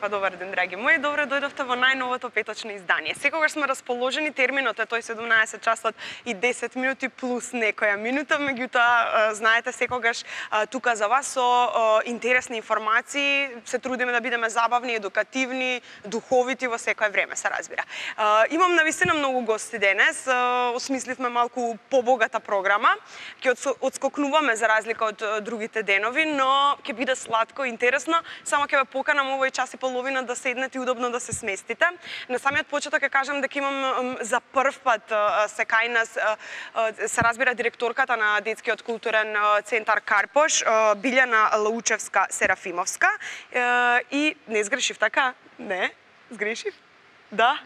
па добар ден, драги мои. Добре дојдовте во најновото петочно издание. Секогаш сме расположени, терминот е тој 17 часот и 10 минути плюс некоја минута, меѓутоа знаете секогаш тука за вас со интересни информации, се трудиме да бидеме забавни, едукативни, духовити во секое време, се разбира. Имам навистина многу гости денес, осмисливме малку побогата програма, ќе одскокнуваме за разлика од другите денови, но ќе биде сладко, интересно, само ќе ве поканам овој час и половина да седнете и удобно да се сместите. На самиот почеток ќе кажам дека имам за прв пат се кај нас, се разбира, директорката на Детскиот културен центар Карпош, Билјана Лаучевска-Серафимовска, и не сгрешив, така? Не? Сгрешив? Да?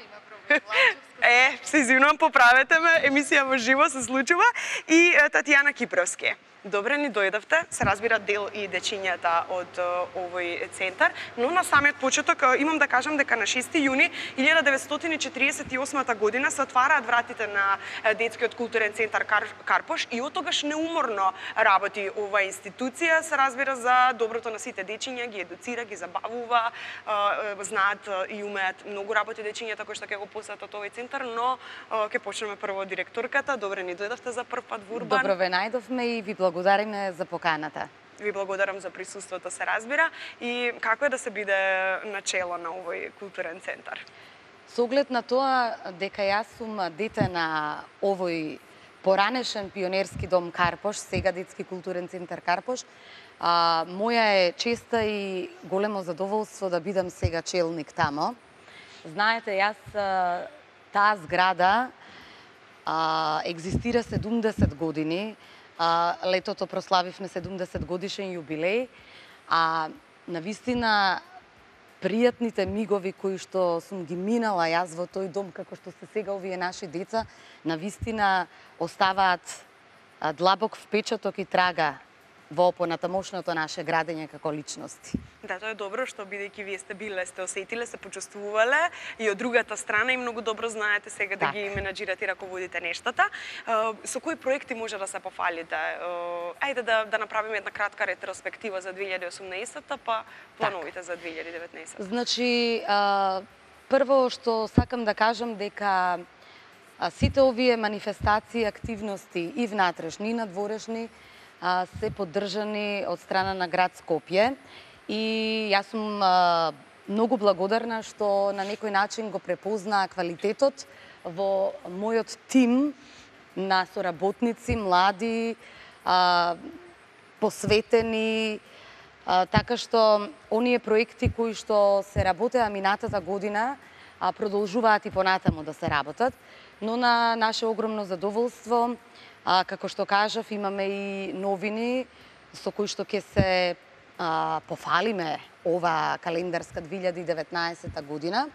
Се извинувам, поправете ме, емисија во живо се случува, и Татјана Кипровски. Добре ни дојдовте, се разбира дел и дечињата од овој центар, но на самиот почеток имам да кажам дека на 6 јуни 1948 година се отвараат вратите на Детскиот културен центар Карпош и оттогаш неуморно работи оваа институција, се разбира за доброто на сите дечиња, ги едуцира, ги забавува, знаат и умеат многу работи дечињата кои што ќе го посетат овој центар, но ќе почнеме прво од директорката. Добре ни дојдовте за прв пат во Урбан. Добро ве најдовме и ви благодариме за поканата. Ви благодарам за присуството, се разбира. И како е да се биде начело на овој културен центар? Со оглед на тоа дека јас сум дете на овој поранешен пионерски дом Карпош, сега Детски културен центар Карпош, моја е честа и големо задоволство да бидам сега челник тамо. Знаете, јас таа зграда екзистира 70 години. Летото прославивме 70 годишен јубилеј, а навистина пријатните мигови кои што сум ги минала јас во тој дом, како што се сега овие наши деца, навистина оставаат длабок впечаток и трага во понатамошното наше градење како личности. Да, тоа е добро, што бидејќи вие сте биле, сте осетиле, се почувствувале и од другата страна и многу добро знаете сега да ги менаџирате и раководите нештата. Со кои проекти може да се пофалите? Ајде да направиме една кратка ретроспектива за 2018-та, па плановите за 2019-та. Значи, прво што сакам да кажам дека сите овие манифестации, активности и внатрешни и надворешни се поддржани од страна на град Скопје и јас сум многу благодарна што на некој начин го препознаа квалитетот во мојот тим на соработници, млади, посветени, така што оние проекти кои што се работеа минатата година продолжуваат и понатаму да се работат, но на наше огромно задоволство, како што кажав, имаме и новини со кои што ќе се пофалиме ова календарска 2019 година,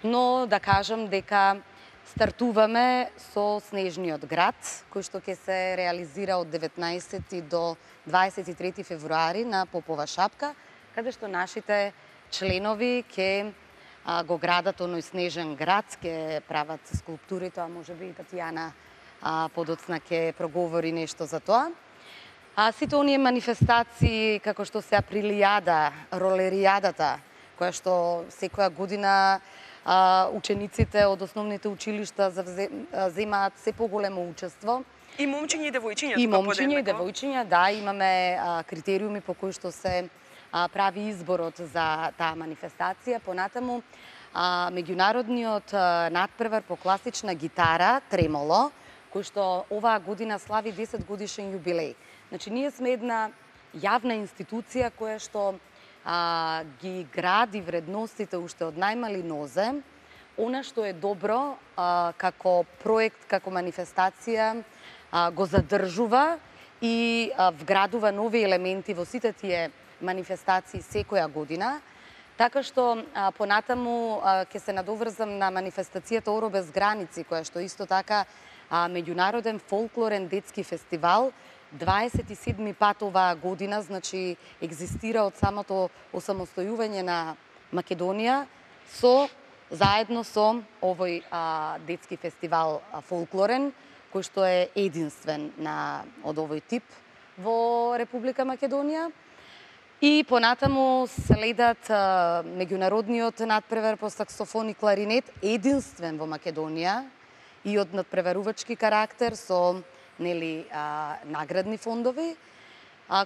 но да кажам дека стартуваме со Снежниот град, кој што ќе се реализира од 19 до 23 февруари на Попова шапка, каде што нашите членови ќе го градат оној снежен град, ќе прават скулптури, тоа можеби и Татјана подоцна ќе проговори нешто за тоа. Сите оние манифестации, како што се Априлијада, Ролеријадата, која што секоја година учениците од основните училишта земаат се поголемо учество. И момчиња и девојчиња. И момчиња и девојчиња, да, имаме критериуми по кои што се прави изборот за таа манифестација. Понатаму, меѓународниот натпревар по класична гитара, Тремоло, кој што оваа година слави 10 годишен јубилеј. Значи, ние сме една јавна институција која што ги гради вредностите уште од најмали нозе. Она што е добро како проект, како манифестација, го задржува и вградува нови елементи во сите тие манифестации секоја година. Така што понатаму ќе се надоврзам на манифестацијата Оро без граници, која што исто така меѓународен фолклорен детски фестивал, 27 пат оваа година, значи екзистира од самото осамостојување на Македонија, заедно со овој детски фестивал фолклорен, кој што е единствен од овој тип во Република Македонија. И понатаму следат меѓународниот надпревар по саксофон и кларинет, единствен во Македонија и од надпреварувачки карактер со наградни фондови,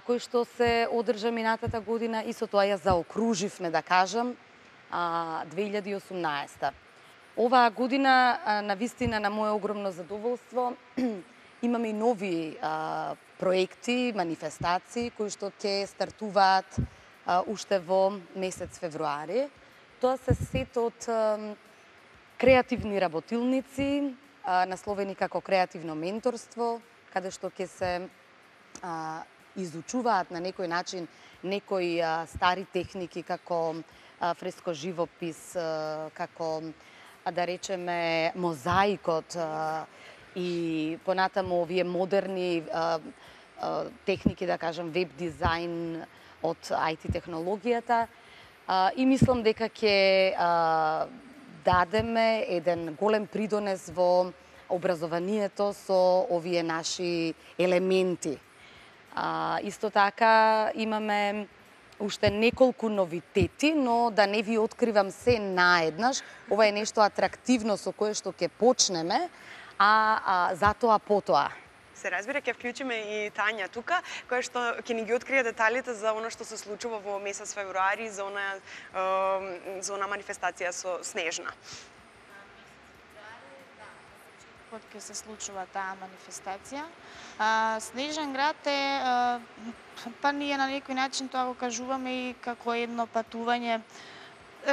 кои што се одржа минатата година и со тоа ја заокруживме, да кажам, 2018. Оваа година, навистина, на моје огромно задоволство, имаме и нови проекти, манифестации, кои што ќе стартуваат уште во месец февруари. Тоа се сет од креативни работилници, насловени како креативно менторство, каде што ќе се изучуваат на некој начин некои стари техники како фреско живопис, како да речеме мозаикот и понатаму овие модерни техники, да кажам, веб дизајн од IT технологијата. И мислам дека ќе дадеме еден голем придонес во образованието со овие наши елементи. Исто така имаме уште неколку новитети, но да не ви откривам се наеднаш. Ова е нешто атрактивно со кое што ќе почнеме, затоа потоа. Се разбира, ќе вклучиме и Тања тука, која што ќе ни ги открие деталите за она што се случува во месец февруари, за она манифестација со Снежна. Кога ќе се случува таа манифестација. Снежен град е, па ние на некој начин тоа го кажуваме и како едно патување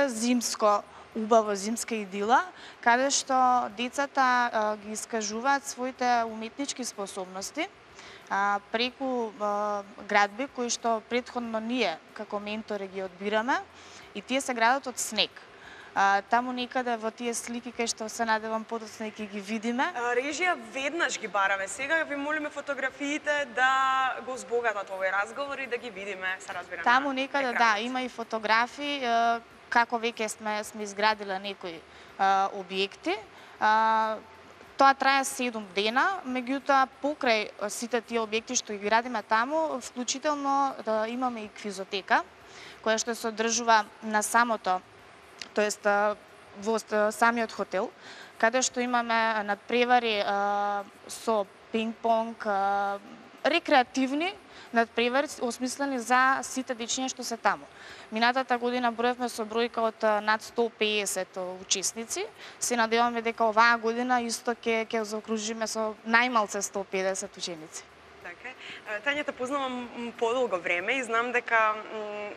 зимско, убаво зимска идила, каде што децата ги искажуваат своите уметнички способности преку градби кои што претходно ние како ментори ги одбираме и тие се градат од снег. Таму некаде во тие слики кај што се надевам подоцна ќе ги видиме. Режија веднаш ги бараме. Сега ви молиме фотографиите да го збогатат овој разговор и да ги видиме, се разбира. Таму некаде да, има и фотографии како веќе сме изградиле некои објекти. Тоа трае 7 дена, меѓутоа покрај сите тие објекти што ги градиме таму, вклучително да имаме и квизотека, која што се одржува на самото, тоест во самиот хотел, каде што имаме надпревари со пинг-понг, рекреативни надпревари осмислени за сите дечиња што се таму. Минатата година броевме со бројка од над 150 учесници. Се надеваме дека оваа година исто ќе заокружиме со најмалце 150 ученици. Така. Тања, те познавам подолго време и знам дека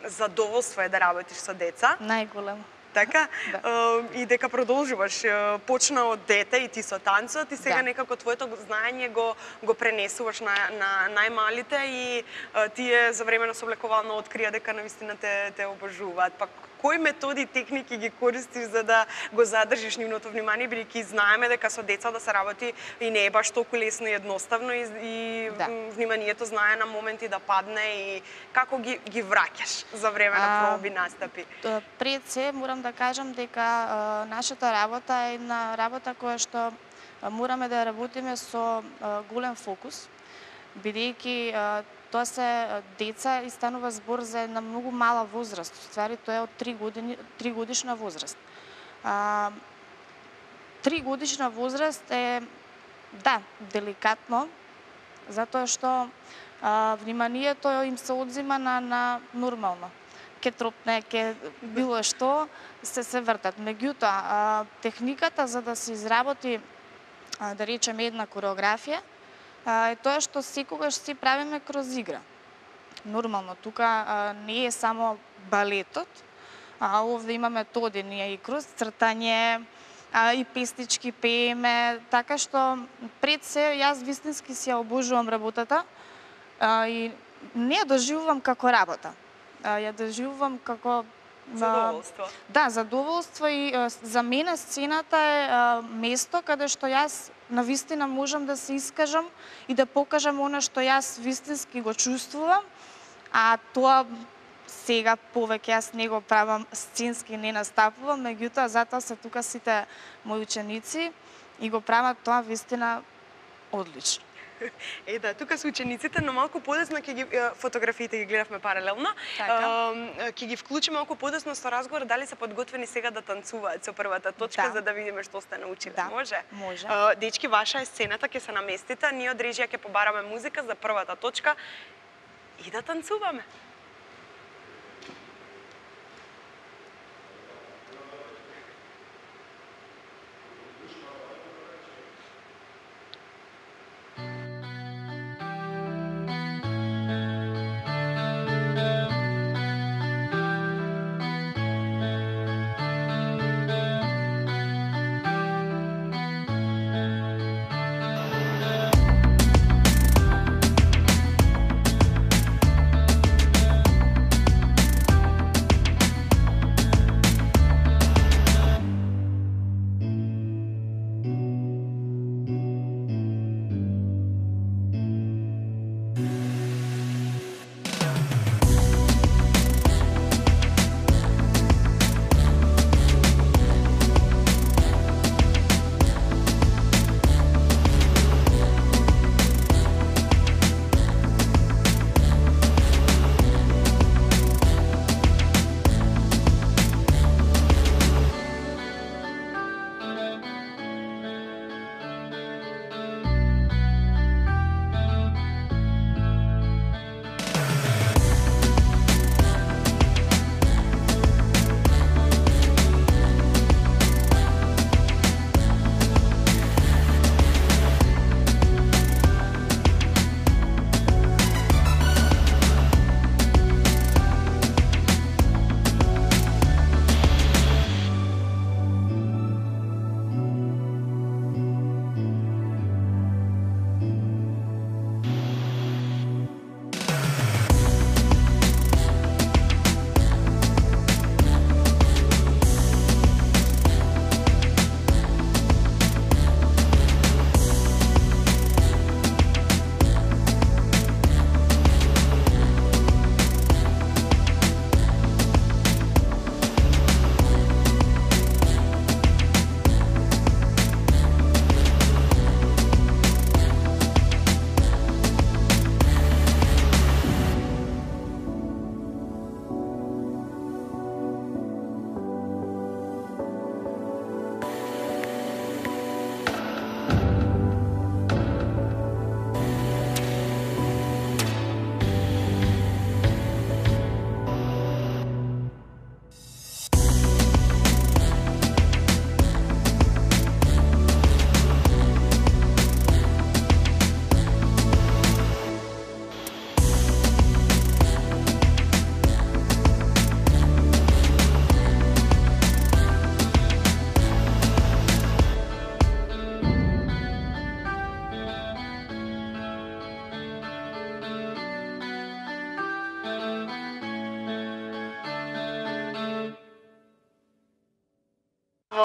задоволство е да работиш со деца. Најголемо. Така? Да. И дека продолжуваш. Почна од дете и ти со танцот и сега некако твоето знаење го пренесуваш на најмалите и тие за време на соблекувално открија дека навистина те обожуваат. Па кои методи и техники ги користиш за да го задржиш нивното внимание, бидејќи знаеме дека со деца да се работи и не е баш толку лесно и едноставно и вниманието знае на моменти да падне и како ги враќаш за време на проби настапи? Пред се морам да кажам дека нашата работа е една работа која што мораме да работиме со голем фокус, бидејќи тоа се деца и станува збор за една многу мала возраст. Ствари тоа е од 3 годишна возраст. 3 годишна возраст е деликатно, затоа што вниманието им се одзима на нормално. Ке тропне, ке било што, се вртат. Меѓутоа, техниката за да се изработи, да речеме, една кореографија, е тоа што секогаш си правиме кроз игра. Нормално, тука не е само балетот, овде имаме тоденија и кроз цртање, и песнички пееме, така што пред се јас вистински си ја обожувам работата и не ја доживувам како работа. Ја доживувам како задоволство. Да, задоволство и за мене сцената е место каде што јас навистина можам да се искажам и да покажам она што јас вистински го чувствувам, а тоа сега повеќе јас не го правам сценски, не настапувам, меѓутоа затоа се тука сите мои ученици и го прават тоа вистина одлично. Да, тука се учениците, но малку подесно ќе ги фотографиите ги гледавме паралелно. Ќе ги вклучиме малку подесно со разговор дали се подготвени сега да танцуваат со првата точка за да видиме што сте научиле. Може? Може. Дечки, ваша е сцената, ќе се наместите, ние од режија ќе побараме музика за првата точка и да танцуваме.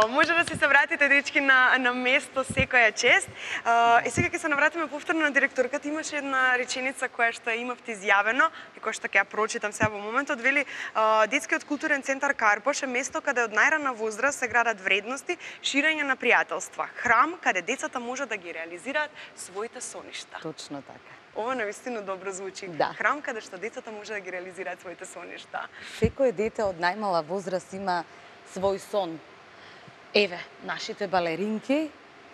Може да се вратите, дечки, на место секоја чест. Сега ќе се навратиме повторно на директорката. Имаше една реченица која што имавте изјавено и која што ќе ја прочитам сега во моментот. Вели, детскиот културен центар Карпош е место каде од најрана возраст се градат вредности, ширење на пријателства, храм каде децата можат да ги реализираат своите соништа. Точно така. Ова навистина добро звучи. Да. Храм каде што децата може да ги реализираат своите соништа. Секој дете од најмала возраст има свој сон. Еве, нашите балеринки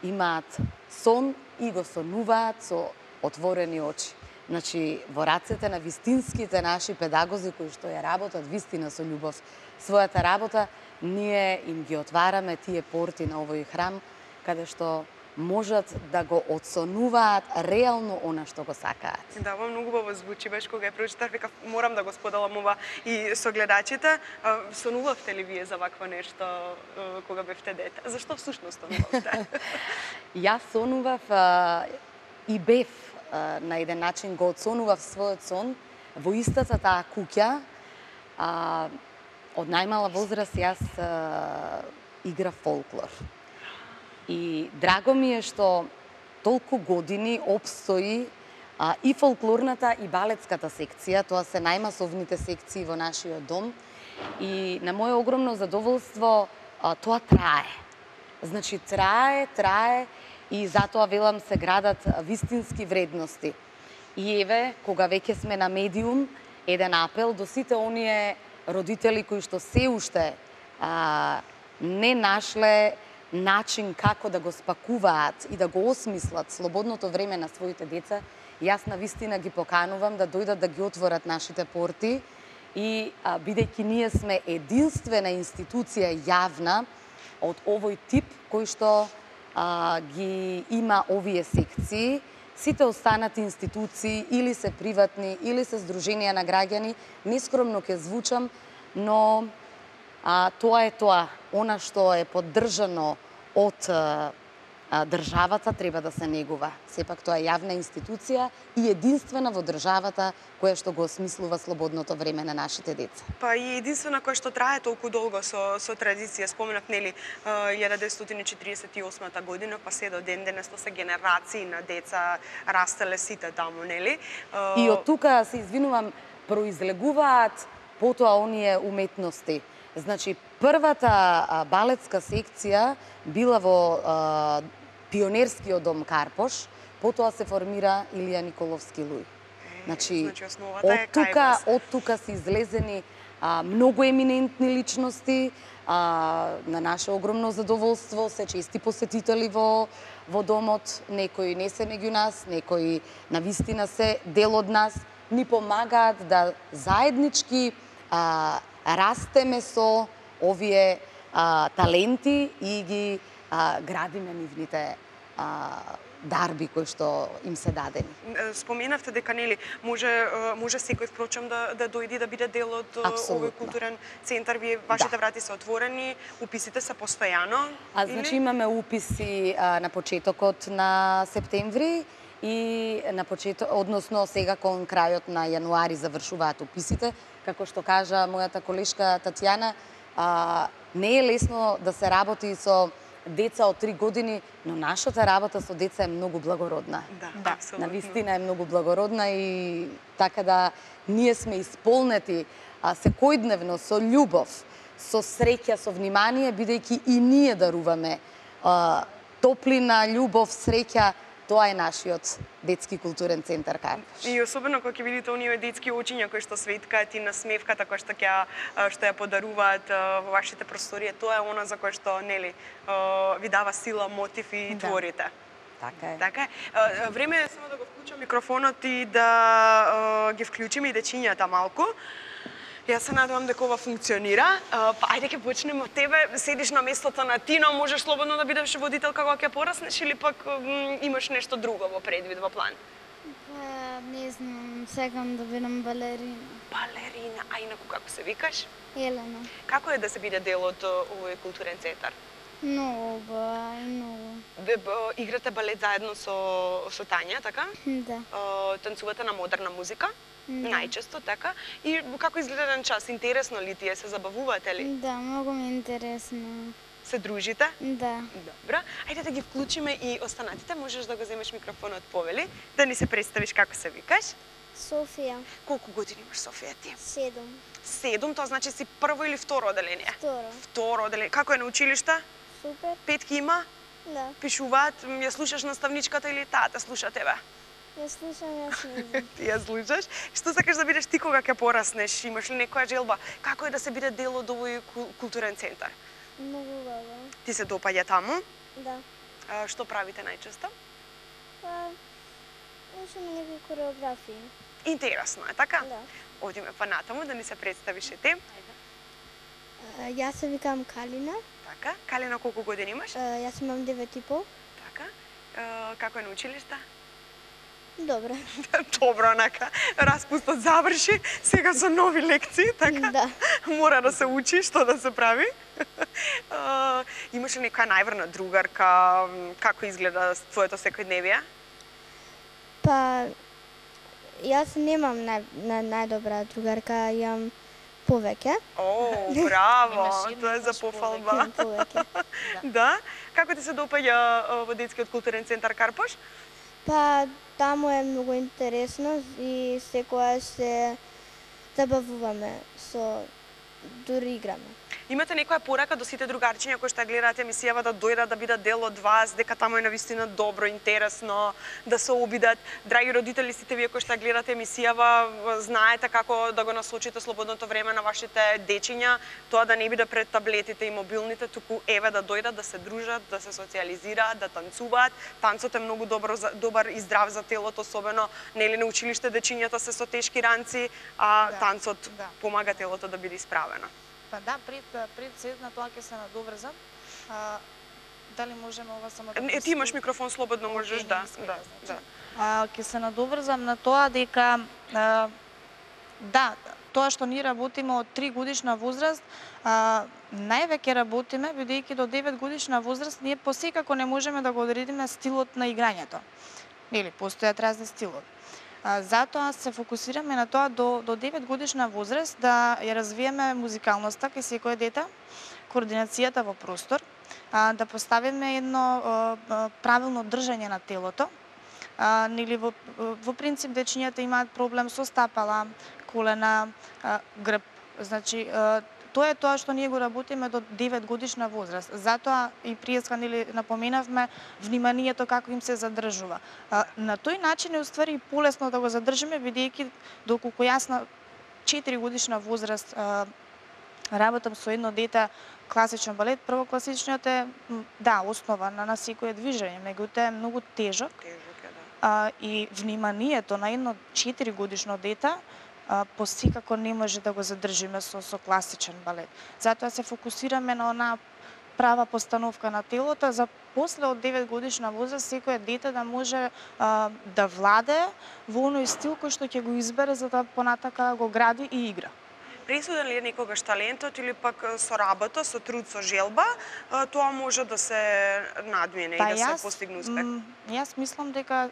имаат сон и го сонуваат со отворени очи. Значи, во рацете на вистинските наши педагози кои што ја работат вистина со љубов својата работа, ние им ги отвараме тие порти на овој храм, каде што можат да го отсонуваат реално она што го сакаат. Да, ова многу убаво звучи, баш кога ја прочитав, викав морам да го споделам ова и со гледачите. Сонувавте ли вие за вакво нешто кога бевте дете? Зашто всушност сонувавте? Јас сонував и бев на еден начин го отсонував својот сон во истата таа куќа. Од најмала возраст јас играв фолклор. И драго ми е што толку години опстои и фолклорната и балетската секција, тоа се најмасовните секции во нашиот дом. И на моје огромно задоволство тоа трае. Значи трае и затоа велам се градат вистински вредности. И еве, кога веќе сме на медиум, еден апел до сите оние родители кои што се уште не нашле начин како да го спакуваат и да го осмислат слободното време на своите деца, јас на вистина ги поканувам да дојдат да ги отворат нашите порти и бидејќи ние сме единствена институција јавна од овој тип кој што ги има овие секции, сите останати институции или се приватни, или се здруженија на граѓани, нескромно ќе звучам, но тоа е тоа. Она што е поддржано од државата треба да се негува. Сепак тоа е јавна институција и единствена во државата која што го осмислува слободното време на нашите деца. Па и единствена која што трае толку долго со традиција. Споменав, нели, 1948 година, па се до ден денес тоа се генерации на деца растеле сите таму, нели? И од тука, се извинувам, произлегуваат потоа оние уметности. Значи, првата балетска секција била во пионерскиот дом Карпош, потоа се формира Илија Николовски Луј. Значи од тука се излезени многу еминентни личности, на наше огромно задоволство, се чести посетители во домот, некои не се меѓу нас, некои навистина се дел од нас, ни помагаат да заеднички растеме со овие таленти и ги градиме нивните дарби кои што им се дадени. Споменавте дека, нели, може секој впрочем да дојде да биде дел од овој културен центар. Вие, вашите врати се отворени, уписите се постојано? Значи имаме уписи на почетокот на септември и на односно сега кон крајот на јануари завршуваат уписите. Како што кажа мојата колешка Татјана, не е лесно да се работи со деца од 3 години, но нашата работа со деца е многу благородна. Да, апсолутно. Навистина е многу благородна и така да ние сме исполнети секојдневно со љубов, со среќа, со внимание, бидејќи и ние даруваме топлина, љубов, среќа. Тоа е нашиот детски културен центар Карпош. И особено кога ќе видите оние детски очиња кои што светкаат и насмевката која што ја подаруваат во вашите просторија, тоа е она за кое што, нели, ви дава сила, мотив и творите. Така е. Така е. Време е само да го вклучам микрофонот и да ги вклучиме и дечињата малку. Јас се надевам дека ова функционира. Па ајде ќе почнеме од тебе. Седиш на местото на Тино, можеш слободно да бидеш водителка кога ќе пораснеш или пак имаш нешто друго во предвид, во план? Па, не знам, сакам да бидам балерина. Балерина, а инаку како се викаш? Елена. Како е да се биде дел од овој културен центар? Многу убава и многу. Играте балет заедно со Тања, така? Да. Танцувате на модерна музика? Да. Најчесто, така? И како изгледа еден час? Интересно ли ти е? Се забавувате ли? Да, многу ми е интересно. Се дружите? Да. Добро. Ајде да ги вклучиме и останатите. Можеш да го земеш микрофонот, повели, да ни се представиш како се викаш. Софија. Колку години имаш, Софија, ти? 7. 7, тоа значи си прво или второ одделение? Второ. Второ одделение. Како е на училиште? Супер. Петки има? Да. Пишуваат? Ја слушаш наставничката или тата слуша тебе? Ја слушам, јас не знам. Ти ја слушаш? Што сакаш да бидеш ти кога ќе пораснеш? Имаш ли некоја желба? Како е да се биде дел од овој културен центар? Многу убаво. Ти се допаѓа таму? Да. Што правите најчесто? Па, учиме некои кореографии. Интересно е, така? Да. Одиме па натаму да ни се представиш и ти. Јас се викам Калина. Така. Калина, колку години имаш? Јас имам 9,5. Така. Како е на училиште? Добро. Добро, онака. Распустот заврши, сега со нови лекции, така? Да. Мора да се учи што да се прави. Имаш ли некоја најврна другарка? Како изгледа твоето секојдневие? Па, јас немам најдобра другарка, имам повеќе. О, браво! Тоа е за пофалба. Имам повеќе. Да? Како ти се допаѓа во детскиот културен центар Карпош? Па, таму е многу интересно и секогаш се забавуваме дури играме. Имате некоја порака до сите другарчиња кои што ја гледаат емисијава да дојдат да бидат дел од вас, дека таму е навистина добро, интересно, да се обидат. Драги родители, сите вие кои што ја гледате емисијава, знаете како да го насочите слободното време на вашите дечиња, тоа да не биде пред таблетите и мобилните, туку еве да дојдат, да се дружат, да се социјализираат, да танцуваат. Танцот е многу добар и здрав за телото, особено нели на училиште дечињата се со тешки ранци, а танцот помага телото да биде исправено. Па да, пред сед на тоа ќе се надоврзам. Дали можеме ова само да... Ти имаш микрофон, слободно можеш, да. Ќе се надоврзам на тоа дека да, тоа што ние работиме од 3 годишна возраст, највеќе работиме, бидејќи до 9 годишна возраст ние посекако не можеме да го одредиме стилот на играњето. Нели, постојат разни стилови. Затоа се фокусираме на тоа до 9 годишна возраст да ја развиеме музикалноста кај секое дете, координацијата во простор, да поставиме едно правилно држање на телото. Нели во принцип дечињата имаат проблем со стапала, колена, грб. Значи тоа е тоа што ние го работиме до 9 годишна возраст. Затоа и приеска нели напоменавме вниманието како им се задржува. На тој начин е уствари полесно да го задржиме, бидејќи доколку јас на 4 годишна возраст работам со едно дете класичен балет, прво класичниот е основа на секое движење, меѓутоа е многу тежок. И вниманието на едно 4 годишно дете посекако не може да го задржиме со класичен балет. Затоа се фокусираме на онаа права постановка на телото, за после од 9 годишна возраст секое дете да може да владее во оној стил кој што ќе го избере за да понатака го гради и игра. Присуден ли е некогаш талентот или пак со работа, со труд, со желба, тоа може да се надмине и да се постигне успех? Јас мислам дека,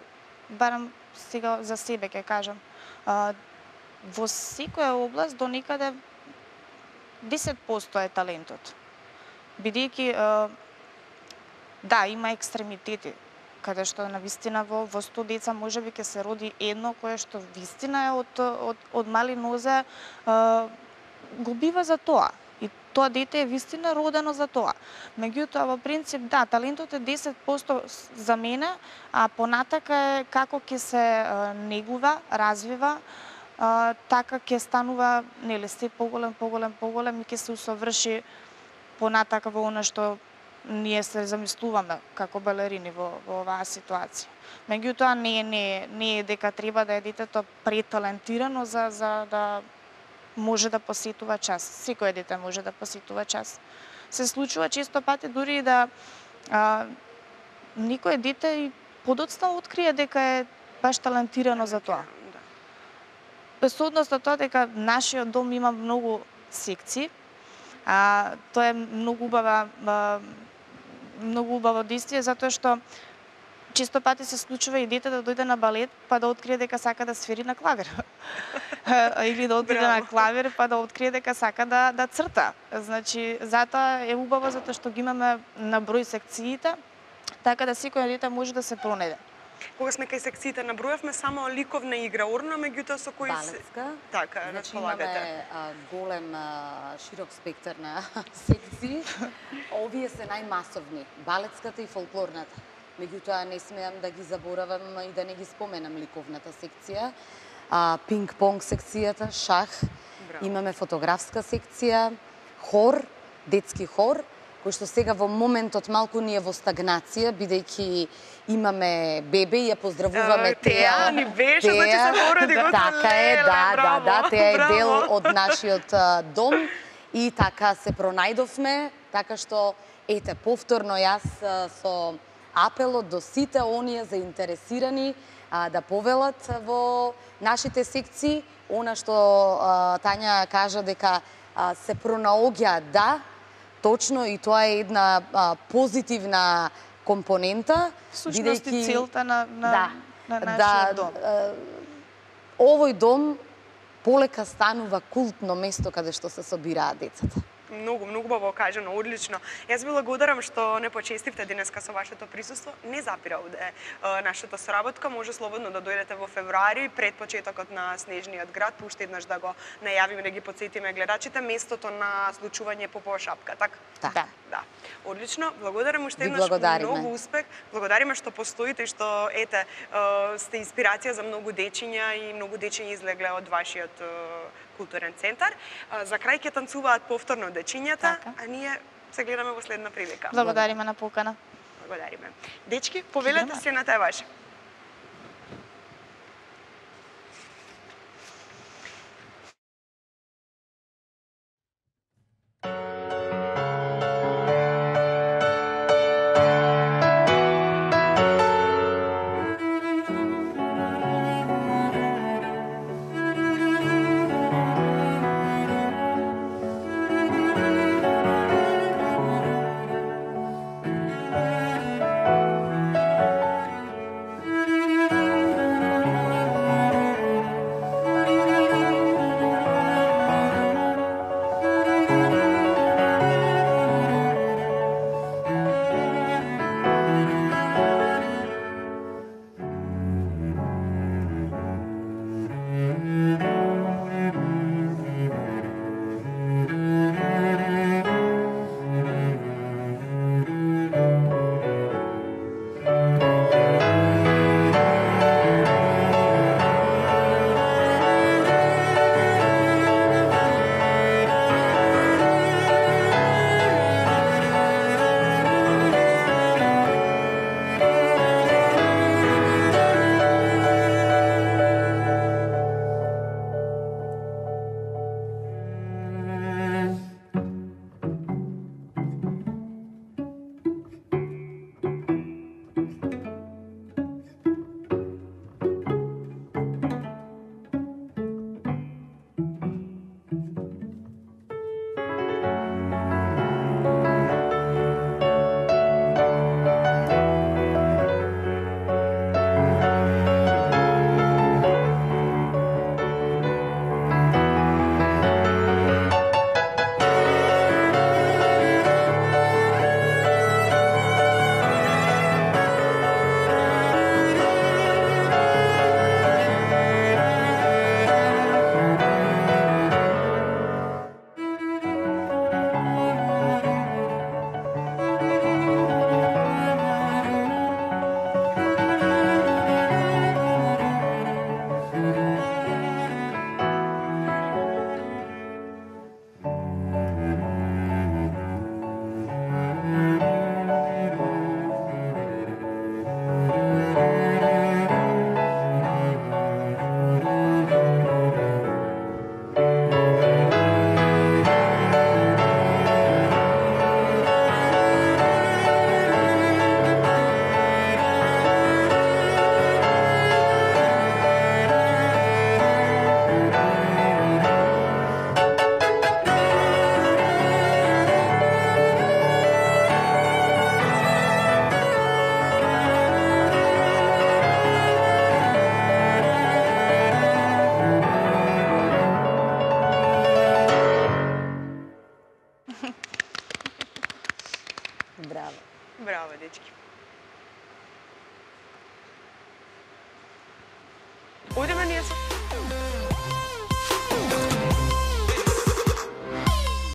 барам сега за себе ќе кажам, во секоја област до некаде 10% е талентот. Бидејќи има екстремитети, каде што навистина во 100 деца можеби ќе се роди едно кое што вистина е од мали нозе го бива за тоа. И тоа дете е вистина родено за тоа. Меѓутоа во принцип талентот е 10% за мене, а понатака е како ќе се негува, развива, така ќе станува нели се поголем и ќе се усоврши понатака во она што ние се замислуваме како балерини во оваа ситуација. Меѓутоа не е дека треба да е детето преталентирано за да може да посетува час. Секој дете може да посетува час. Се случува често пати дури и да никој дете и подоцна открие дека е баш талентирано за тоа. Без однос на тоа дека нашиот дом има многу секции, тоа е многу убаво действие, затоа што често пати се случува и дете да дојде на балет, па да открие дека сака да свири на клавир. Или да отиде на клавир, па да открие дека сака да црта. Значи, затоа е убаво, затоа што ги имаме на број секциите, така да секој дете може да се пронајде. Кога сме кај секциите, набројавме само ликовна игра, орна, меѓутоа со кои балетска. Така, располагате. Имаме голем, широк спектар на секции. Овие се најмасовни, балетската и фолклорната. Меѓутоа не смеам да ги заборавам и да не ги споменам ликовната секција. Пинг-понг секцијата, шах, имаме фотографска секција, хор, детски хор, кој што сега во моментот малку ни е во стагнација, бидејќи имаме бебе и ја поздравуваме Теа. Ни беше, значи се породи го така е, да, Теа е дел од нашиот дом и така се пронајдовме, така што ете повторно јас со апелот до сите оние заинтересирани да повелат во нашите секции, она што Тања кажа дека се пронаоѓа, точно, и тоа е една позитивна компонента. Всушност и целта на нашиот дом. Овој дом полека станува култно место каде што се собираат децата. Многу убаво кажано, одлично. Јас ви благодарам што не почестивте денеска со вашето присуство. Не запира овде нашата соработка, може слободно да дојдете во февруари пред почетокот на Снежниот град, уште еднаш да го најавиме, да ги потсетиме гледачите местото на случување Попова шапка, така? Да. Одлично, благодарам уште еднаш, многу успех. Благодариме што постоите и што сте инспирација за многу дечиња и многу дечиња излегле од вашиот културен центар. За крај ќе танцуваат повторно дечињата, а ние се гледаме во следна прилика. Благодариме на покана. Благодариме. Дечки, повелете се на ваше. Браво, дечки.